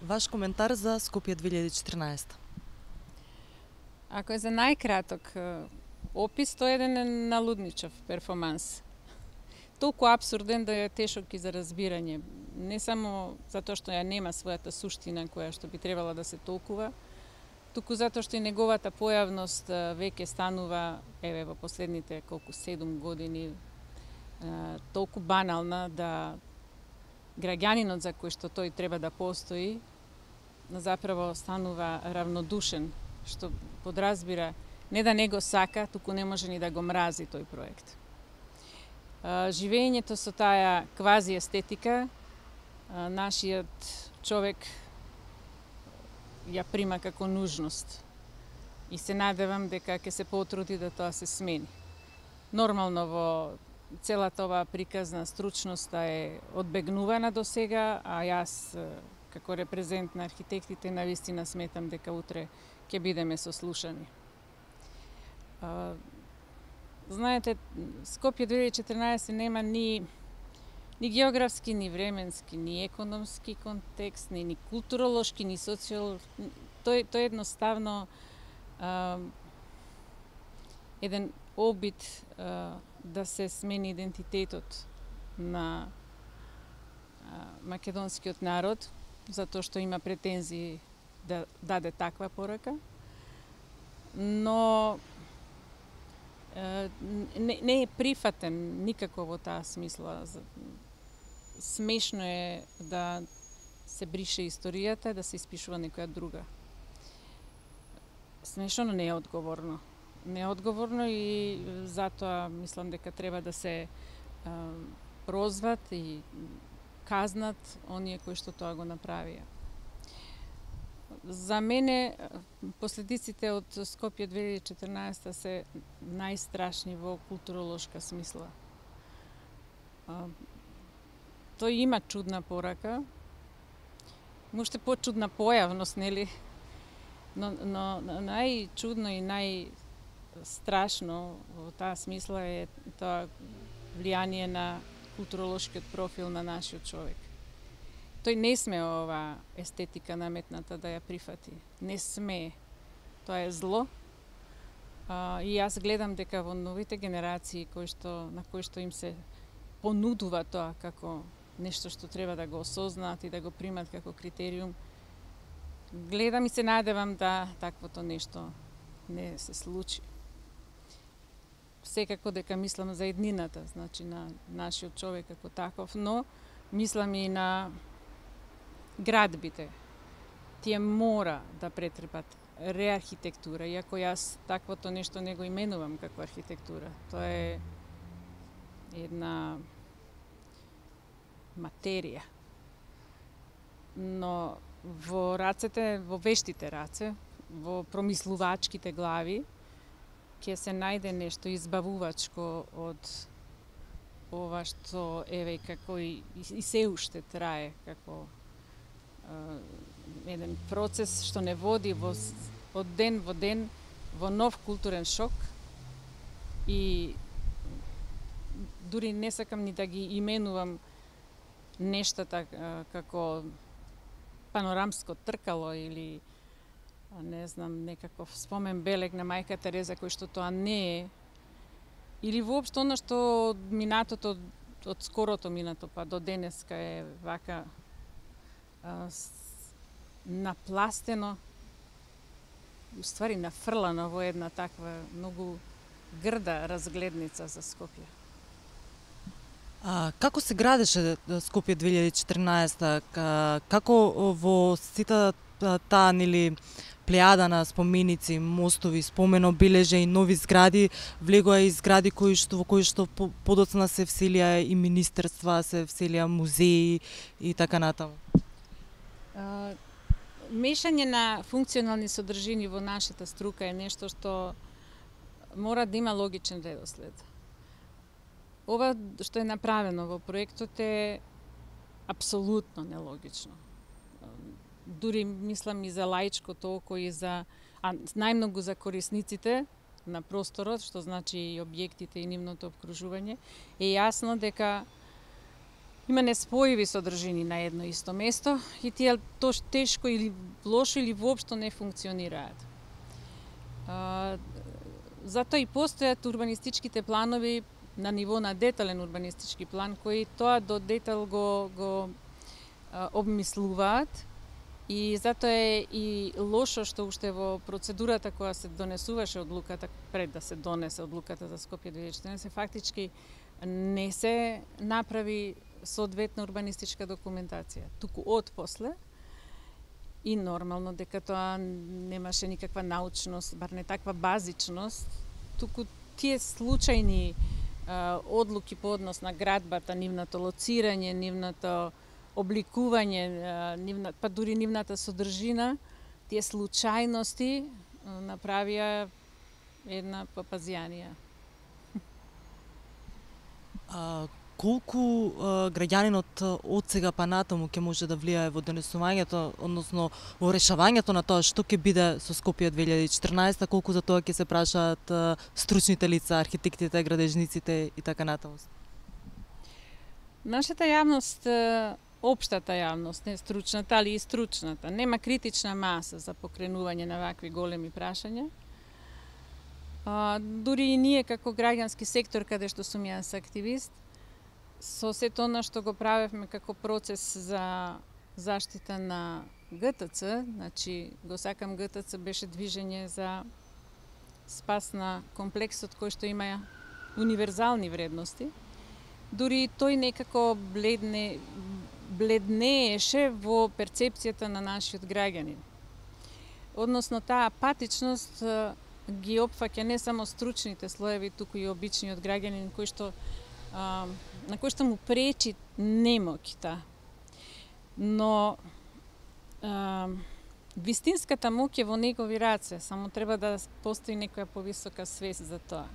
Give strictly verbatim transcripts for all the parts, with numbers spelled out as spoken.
Ваш коментар за Скопје две илјади и четрнаесетта? Ако е за најкраток опис, тоа е еден налудничав перформанс. Толку апсурден да е тешок и за разбирање. Не само затоа што ја нема својата суштина која што би требала да се толкува, туку затоа што и неговата појавност веќе станува, еве во последните колку седум години, толку банална да граѓанинот за кој што тој треба да постои, заправо станува равнодушен, што подразбира не да не го сака, туку не може ни да го мрази тој проект. Живењето со таа квази естетика, нашиот човек ја прима како нужност и се надевам дека ќе се потруди да тоа се смени. Нормално во целата оваа приказна стручноста е одбегнувана до сега, а јас како репрезент на архитектите навистина сметам дека утре ќе бидеме сослушани. Знаете, Скопје две илјади и четрнаесетта нема ни ни географски, ни временски, ни економски контекст, ни, ни културолошки, ни социолошки. Тој, тој едноставно а, еден обид а, да се смени идентитетот на а, македонскиот народ, затоа што има претензии да даде таква порака, но не, не е прифатен никако во таа смисла. Смешно е да се брише историјата, да се испишува некоја друга. Смешно, но не е одговорно. Не е одговорно и затоа мислам дека треба да се а, прозват и казнат оние кои што тоа го направија. За мене последиците од Скопје две илјади и четрнаесетта се најстрашни во културолошка смисла. Тој има чудна порака, уште почудна појавност, нели? Но, но најчудно и најстрашно во таа смисла е тоа влијание на културолошкиот профил на нашиот човек. Тој не сме ова естетика наметната да ја прифати. Не сме. Тоа е зло. А, и јас гледам дека во новите генерации кои што, на кои што им се понудува тоа како нешто што треба да го осознаат и да го примат како критериум, гледам и се надевам да таквото нешто не се случи. Секако дека мислам за еднината, значи на нашиот човек како таков, но мислам и на градбите. Тие мора да претрпат реархитектура, иако јас таквото нешто не го именувам како архитектура. Тоа е една материја. Но во рацете, во вештите раце, во промислувачките глави, ќе се најде нешто избавувачко од ова што еве како и, и се уште трае како е, еден процес што не води во, од ден во ден во нов културен шок и дури не сакам ни да ги именувам нештата како панорамско тркало или не знам, некаков спомен белег на мајка Тереза кој што тоа не е, или воопшто она што од минатото, од скорото минато па до денеска е вака а, с, напластено, уствари нафрлано во една таква многу грда разгледница за Скопје. А, како се градеше Скопје две илјади и четрнаесетта? Како во сите таа нели плејада на споменици, мостови, спомен обележја и нови згради, влегоа и згради кои што во кои што подоцна се вселија и министерства, се вселија музеи и така натаму? А, мешање на функционални содржини во нашата струка е нешто што мора да има логичен редослед. Ова што е направено во проектот е апсолутно нелогично. Дури мислам и за лаичкото око и за, а најмногу за корисниците на просторот, што значи и објектите и нивното обкружување, е јасно дека има неспојиви содржини на едно исто место и тие тош тешко или лошо или воопшто не функционираат. А, затоа и постојат урбанистичките планови на ниво на детален урбанистички план, кои тоа до детал го, го а, обмислуваат и затоа е и лошо што уште во процедурата која се донесуваше одлуката, пред да се донесе одлуката за Скопје две илјади и четиринаесетте, фактички не се направи соодветна урбанистичка документација. Туку од после и нормално дека тоа немаше никаква научност, бар не таква базичност, туку тие случајни а, одлуки по однос на градбата, нивното лоцирање, нивното обликување, нивна, па дури нивната содржина, тие случајности направија една папазијанија. А, колку а, граѓанинот од сега па натаму ќе може да влијае во донесувањето, односно во решавањето на тоа што ќе биде со Скопје две илјади и четиринаесетте, колку за тоа ќе се прашаат а, стручните лица, архитектите, градежниците и така натаму? Нашата јавност, општата јавност, не стручната, али и стручната, нема критична маса за покренување на вакви големи прашања. А, дури и ние како граѓански сектор, каде што сум јас активист, со сето она што го правевме како процес за заштита на Г Т Ц, значи го сакам Г Т Ц беше движење за спас на комплексот кој што има универзални вредности, дури тој некако бледне, бледнееше во перцепцијата на нашиот граѓанин. Односно, таа апатичност ги опфаќа не само стручните слоеви, туку и обичниот граѓанин кој што а, на кој што му пречи немоќта. Но а, вистинската моќ е во негови раце, само треба да постои некоја повисока свест за тоа.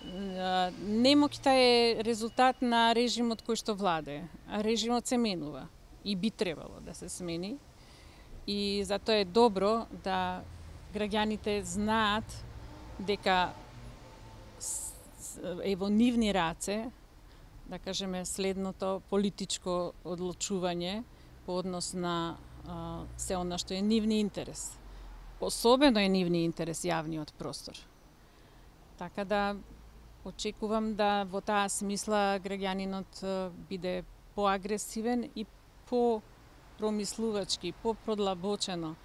А, немоќта е резултат на режимот кој што владее, а режимот се менува и би требало да се смени. И затоа е добро да граѓаните знаат дека е во нивни раце, да кажеме, следното политичко одлучување по однос на а, се она што е нивни интерес. Особено е нивни интерес јавниот простор. Така да очекувам да во таа смисла граѓанинот биде поагресивен и по-промислувачки, по-продлабочено.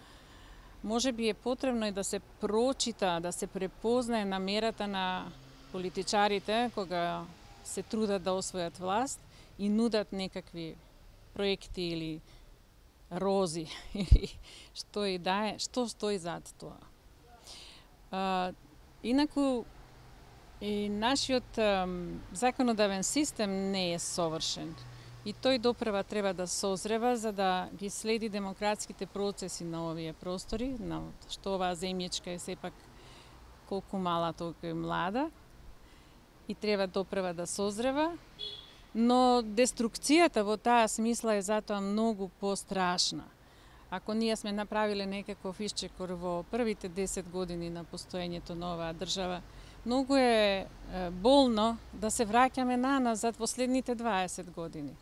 Може би е потребно и да се прочита, да се препознае намерата на политичарите кога се трудат да освојат власт и нудат некакви проекти или рози или што и да е, што стои зад тоа. А, инаку и нашиот а, законодавен систем не е совршен. И тој допрева треба да созрева за да ги следи демократските процеси на овие простори, на што оваа земјичка е сепак колку мала, толку и млада. И треба допрева да созрева, но деструкцијата во таа смисла е затоа многу пострашна. Ако ние сме направиле некаков исчекор во првите десет години на постоењето на оваа држава, многу е болно да се враќаме наназад во следните дваесет години.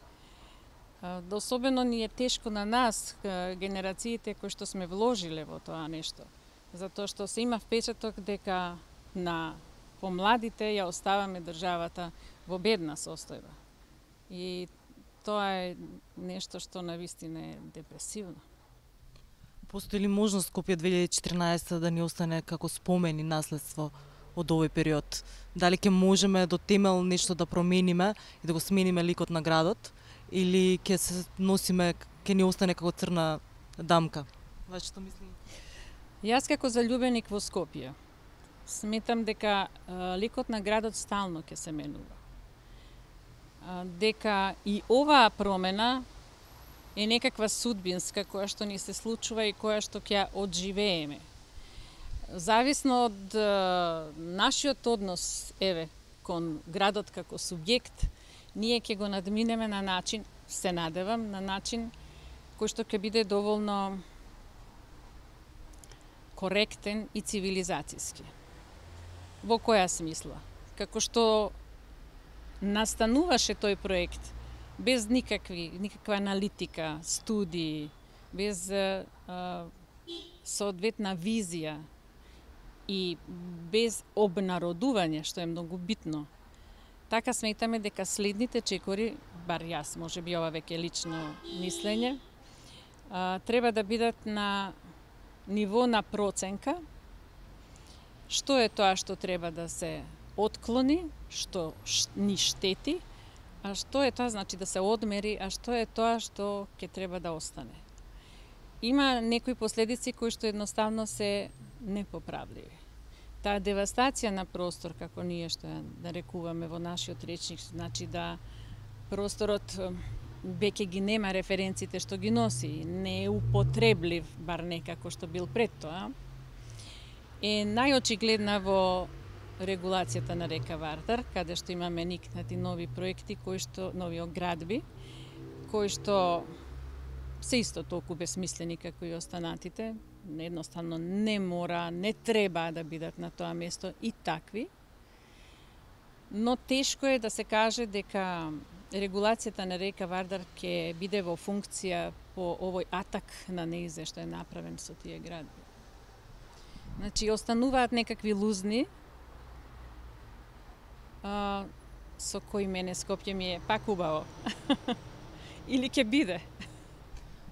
Особено ни е тешко на нас, генерациите кои што сме вложиле во тоа нешто. Затоа што се има впечаток дека на помладите ја оставаме државата во бедна состојба. И тоа е нешто што навистина е депресивно. Постои ли можност Скопје две илјади и четиринаесетте да ни остане како спомен и наследство од овој период? Дали ќе можеме до темел нешто да промениме и да го смениме ликот на градот, или ќе се носиме, ќе ни остане како црна дамка? Вашето мислење? Јас како заљубеник во Скопје сметам дека а, ликот на градот стално ќе се менува. А, дека и оваа промена е некаква судбинска која што ни се случува и која што ќе одживееме. Зависно од а, нашиот однос, еве, кон градот како субјект, ние ќе го надминеме на начин, се надевам, на начин кој што ќе биде доволно коректен и цивилизацијски. Во која смисла? Како што настануваше тој проект без никакви, никаква аналитика, студии, без а, соодветна визија и без обнародување, што е многу битно. Така сметаме дека следните чекори, бар јас, може би ова веќе лично мислење, а, треба да бидат на ниво на проценка, што е тоа што треба да се отклони, што ни штети, а што е тоа, значи да се одмери, а што е тоа што ќе треба да остане. Има некои последици кои што едноставно се непоправливи. Таа девастација на простор, како ние што ја нарекуваме во нашиот речник, значи да просторот веќе ги нема референците што ги носи, не е употреблив, бар некако што бил пред тоа, е најочигледна во регулацијата на река Вардар, каде што имаме никнати нови проекти, кои што, нови оградби, кои што се исто толку безсмислени како и останатите, едноставно не мора, не треба да бидат на тоа место и такви. Но тешко е да се каже дека регулацијата на река Вардар ќе биде во функција по овој атак на неизе што е направен со тие градби. Значи, остануваат некакви лузни, а, со кои мене Скопје ми е пак убаво. Или ќе биде.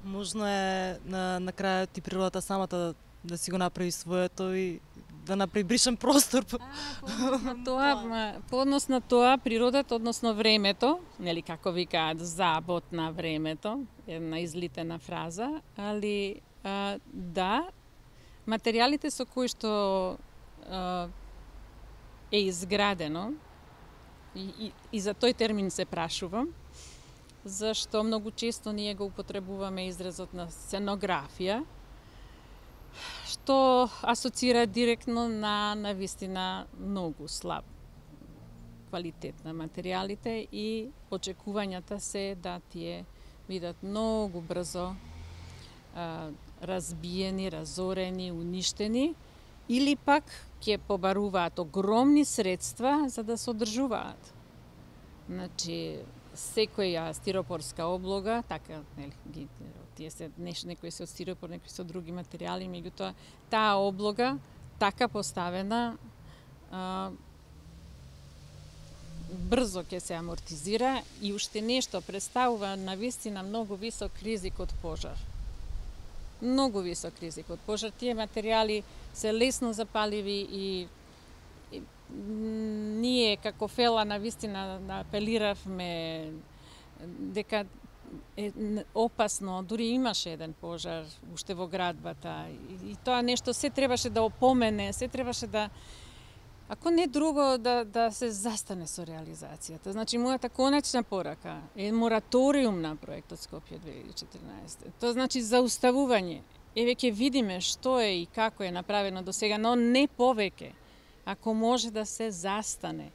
Можно е на, на крајот и природата самата да, да си го направи своето и да направи бришен простор. А, по однос на тоа, по однос на тоа, природата, односно времето, нели како викаат, забот на времето, една излитена фраза, али а, да, материјалите со кои што а, е изградено, и, и, и за тој термин се прашувам, зашто многу често ние го употребуваме изразот на сценографија, што асоцира директно на навистина многу слаб квалитет на материјалите и очекувањата се да тие бидат многу брзо а, разбиени, разорени, уништени, или пак ќе побаруваат огромни средства за да се одржуваат. Значи, секоја стиропорска облога, така, нели, ги, тие се нешто, некои се од стиропор, некои се од други материјали, меѓутоа таа облога така поставена а, брзо ќе се амортизира и уште нешто представува навистина многу висок ризик од пожар. Многу висок ризик од пожар. Тие материјали се лесно запаливи и, и ние како фела навистина апелиравме дека е опасно, дури имаше еден пожар уште во градбата и, и тоа нешто се требаше да опомене, се требаше да, ако не друго, да, да се застане со реализацијата. Значи, мојата конечна порака е мораториум на проектот Скопје две илјади и четрнаесета. Тоа значи зауставување. Еве ќе видиме што е и како е направено до сега, но не повеќе. Ако може да се застане.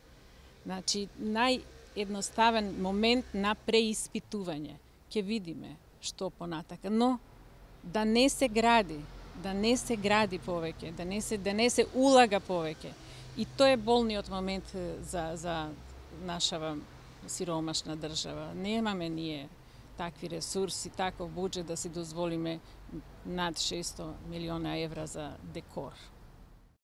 Значи, наједноставен момент на преиспитување. Ќе видиме што понатака, но да не се гради, да не се гради повеќе, да не се, да не се улага повеќе. И тоа е болниот момент за, за нашава сиромашна држава. Немаме ние такви ресурси, таков буџет да си дозволиме над шестоста милиона евра за декор.